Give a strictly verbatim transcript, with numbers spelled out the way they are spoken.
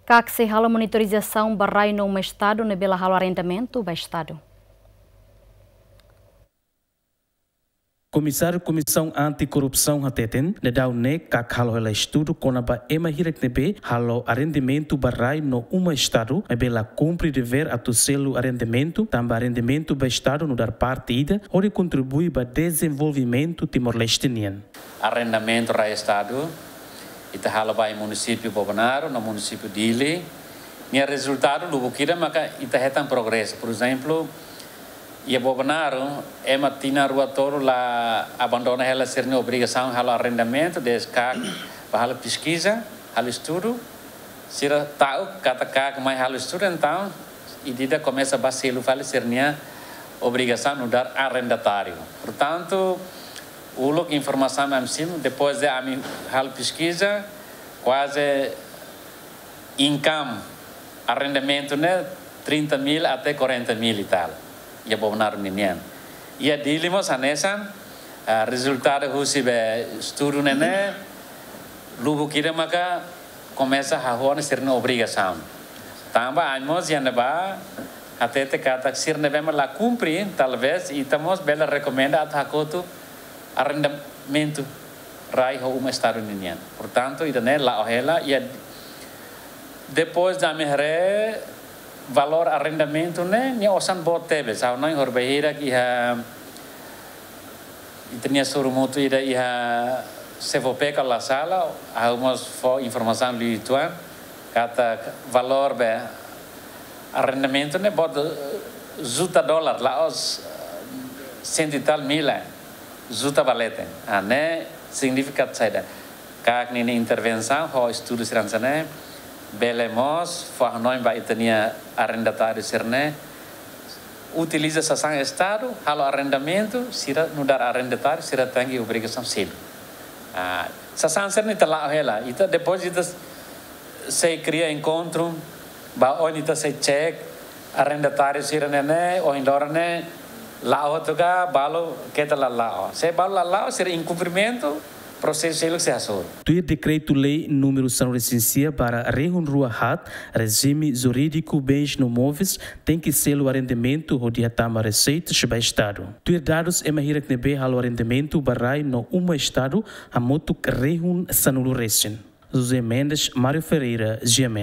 KAK sei halo monitorizasaun ba rai no uma estadu ne'ebé la halo arrendamentu ba estadu. Komisáriu Komisaun Anti-Korrupsaun hateten, daudaun ne'e KAK halo hela estudu kona-ba ema hirak ne'ebé halo arrendamentu ba rai no uma estadu, maibé la kumpre devér atu selu arrendamentu, tanba arrendamentu ba estadu nu'udar parte ida hodi kontribui ba dezenvolvimentu Timor-Leste nian. Arrendamentu rai estadu, ita halo ba iha munisípiu Bobonaro no munisípiu Dili. Nia rezultadu lubuk ida maka ita hetan progresu. Porezemplu, iha Bobonaro, ema tinan rua tolu la abandona hela sira-nia obrigasaun halo arrendamentu, desde KAK ba halo peskiza, halo estudu. Sira ta'uk katak KAK mai halo estudu, entaun ida-idak komesa ba selu fali sira-nia obrigasaun nu'udar arrendatáriu. Portantu, uluk informasaun ami simu, depois de ami halo peskiza, kuaze income arrendamentu ne'e trinta mil até quarenta mil e tal. Iha Bobonaro ninian. Iha Dili mós hanesan, ah, rezultadu husi be estudu ne'e ne'e, lubuk ida maka komesa hahú ona sira-nia obrigasaun. Tanba ami mós iha ne'ebá hatete katak sira ne'ebé mak la kumpre, talvés ita mós bele rekomenda atu hakotu arrendamentu rai ho uma estadu ninian. Portantu, ida-ne'e la'o hela, iha depois de ami haree valór arrendamentu ne'e, nia osan boot tebes. Ha'u hanoin horibainhira iha ita-nia sorumutu ida iha SEFOPECA la sala, ha'u mós fó informasaun liu uitoan, katak valór be arrendamentu ne'e boot, eh, juta dolar, la'ós, eh, cento e tal mil, eh, juta ba leten. Ah, ne'e signifika saida? KAK ninia intervensaun ho estudu sira hanesan ne'e, bele mós fó hanoin ba ita-nia arrendatáriu sira-ne'e utiliza sasán estadu, halo arrendamentu, sira nu'udar arrendatáriu, sira tenke obrigasaun selu. Ah, sasán sira-ne'e ita la'o hela, ita depois ita sei kria enkontru, ba oin ita sei cek arrendatáriu sira-ne'e ne'e, ohin loron ne'e la'o hotu ka, balu keta la la'o. Se balu la la'o, sira inkumprimentu, prosesu seluk sei hasoru. Tuir dekretu-lei númeru sanulu-resin-sia barra rihun rua haat, rejime jurídiku bens no móveis tenke selu arrendamentu hodi hatama reseitas ba estadu. Tuir dadus, ema hirak ne'ebé halo arrendamentu ba rai no uma estadu hamutuk rihun sanulu-resin. José Mendes, Mário Ferreira, GMN.